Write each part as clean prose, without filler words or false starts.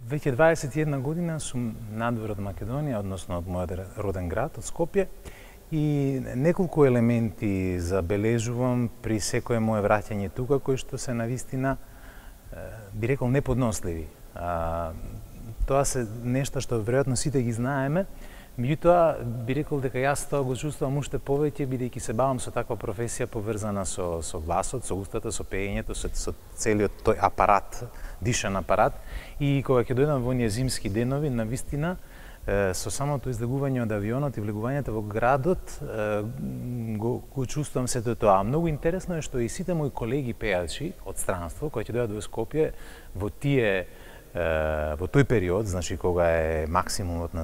Веќе 21 година сум надвор од Македонија, односно од мојот роден град, од Скопје, и неколку елементи забележувам при секое мое враќање тука, кои што се навистина, би рекол, неподносливи. Тоа се нешта што веројатно сите ги знаеме, меѓутоа би рекол дека јас тоа го чувствувам уште повеќе, бидејќи се бавам со таква професија поврзана со гласот, со устата, со пеењето, со целиот тој апарат, дишан апарат. И кога ќе дојдам во оние зимски денови, навистина, со самото излегување од авионот и влегувањето во градот, го чувствувам сето тоа. Многу интересно е што и сите мои колеги пејачи од странство, кои ќе дојдат во Скопје, во тој период, значи кога е максимумот на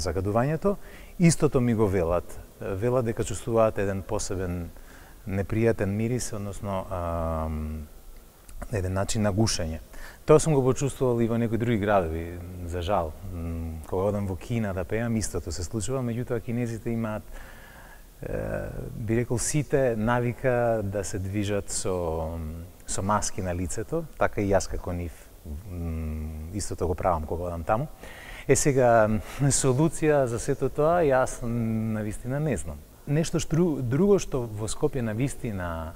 загадувањето, истото ми го велат. Велат дека чувствуваат еден посебен непријатен мирис, односно еден начин на гушење. Тоа сум го почувствувал и во некои други градови, за жал. Кога одам во Кина да пеам, истото се случува, меѓутоа кинезите имаат, би рекол, сите навика да се движат со маски на лицето, така и јас како нив истото го правам кога одам таму. Сега, солуција за сето тоа, јас навистина не знам. Нешто друго што во Скопје навистина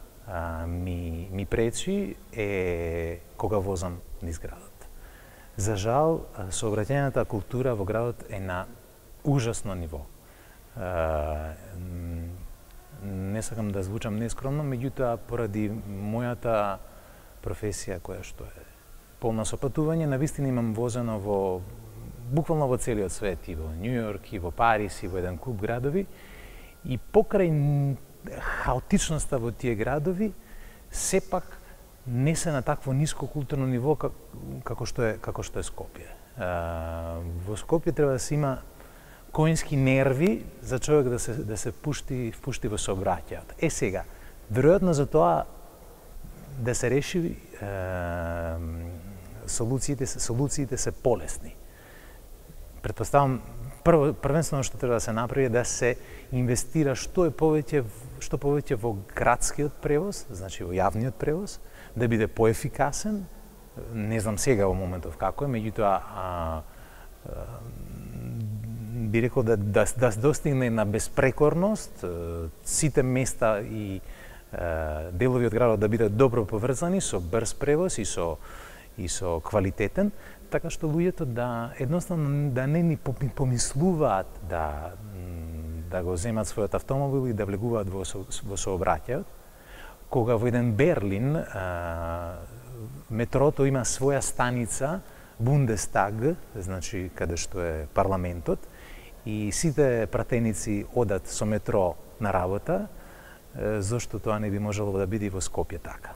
ми пречи е кога возам низ градот. За жал, сообраќајната култура во градот е на ужасно ниво. Не сакам да звучам нескромно, меѓутоа поради мојата професија која што е полна со патување, навистина имам возено буквално во целиот свет, и во Њу Јорк, и во Париз, и во еден куп градови, и покрај хаотичноста во тие градови, сепак не се на такво ниско културно ниво како што е Скопје. Во Скопје треба да се има коњски нерви за човек да се пушти во сообраќајот. Сега, веројатно за тоа да се реши, солуциите се полесни. Претпоставам, првенствено што треба да се направи е да се инвестира што повеќе во градскиот превоз, значи во јавниот превоз, да биде поефикасен. Не знам сега во моментов како е, меѓутоа би рекол да достигне на безпрекорност, сите места и делови од градот да бидат добро поврзани со брз превоз и со квалитетен, така што луѓето едноставно да не ни помислуваат да го земат својот автомобил и да влегуваат во сообраќајот. Кога во еден Берлин метрото има своја станица, Бундестаг, значи каде што е парламентот, и сите пратеници одат со метро на работа, зошто тоа не би можело да биде и во Скопје така?